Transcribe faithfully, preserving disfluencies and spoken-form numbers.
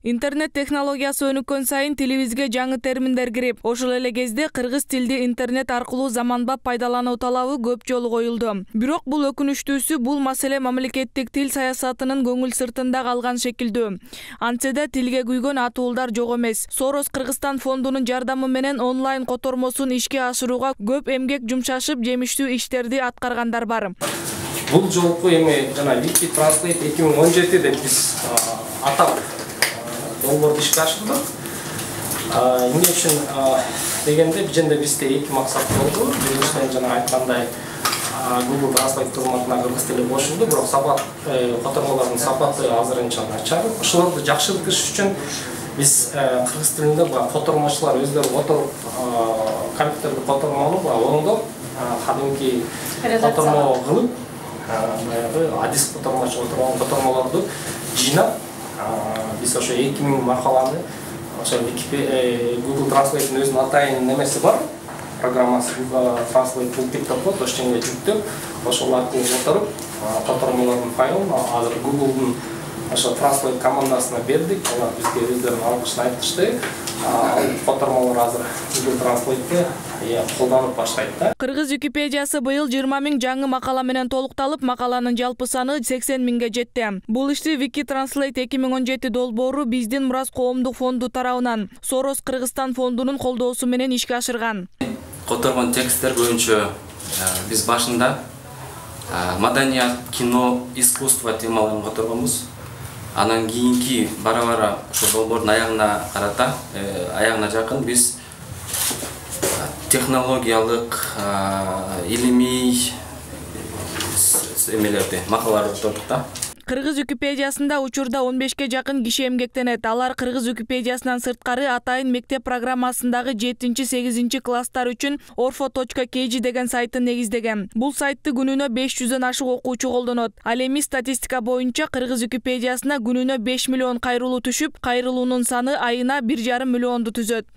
Интернет технологиясы өнүккөн сайын тилибизге жаңы терминдер кирип, ошол эле кезде кыргыз тилди интернет аркылуу заманбап пайдалануу талабы көп жолу коюлду. Бирок бул өкүнүчтүүсү бул маселе мамлекеттик тил саясатынын көңүл сыртында калган шекилдүү. Антсе да тилге күйгөн атуулдар жок эмес. Сорос Кыргызстан фондунун жардамы менен онлайн котормосун ишке ашырууга көп эмгек жумшашып, жемиштүү иштерди аткаргандар бар. Бул жолку эми жана Wiki Translate эки миң он жети деп биз атап долбоорду ишке ашырдык. Эмне үчүн дегенде бизде бизде эки максат болду. Биринчиден жана айткандай Google Translate кызматына кыргыз тили кошулду, бирок сапат котормолордун сапаты азырынча начар. Ошолорду жакшыртыш үчүн биз кыргыз тилинде котормочулар өздөрү отуруп компьютерди котормонуп, оңдоп, кадимки котормо кылып, баягы адис котормочу отурган котормолорду жыйнап, биз ошо эки миң макаланы ошо Google Translate'ин өзүнүн атайын немеси бар, программасы Google Translate Toolkit деп коет, ошондой жүктөп, ошол аркылуу отуруп, котормолордун файлын азыр Google'дун ошо Translate командасына бердик. Алар бизге өздөрүнүн алкышын айтышты. Ал котормолор азыр Google Translate'ти колдонуп баштайт да. Кыргыз Википедиясы быйыл жыйырма миң жаңы макала менен толукталып, макаланын жалпы саны сексен миңге жетти. Бул ишти Wiki Translate эки миң он жети долбоору биздин Мурас коомдук фонду тарабынан Сорос Кыргызстан фондунун колдоосу менен ишке ашырган. Котормон тексттер боюнча биз башында маданият, кино, искусство темаларын котормонбуз. Анан кийинки бара-бара ошо долбоордун аягына карата, аягына жакын биз технологиялык, илимий эмелерди, макалаларды толтуруп да. Кыргыз Википедиясында учурда он бешке жакын киши эмгектенет. Алар Кыргыз Википедиясынан сырткары атайын мектеп программасындагы жетинчи-сегизинчи класстар үчүн орфо точка кей жи деген сайтын негиздеген. Бул сайтты күнүнө беш жүздөн ашык окуучу колдонот. Ал эми статистика боюнча Кыргыз Википедиясына күнүнө беш миллион кайрылуу түшүп, кайрылуунун саны айына бир жарым миллионду түзөт.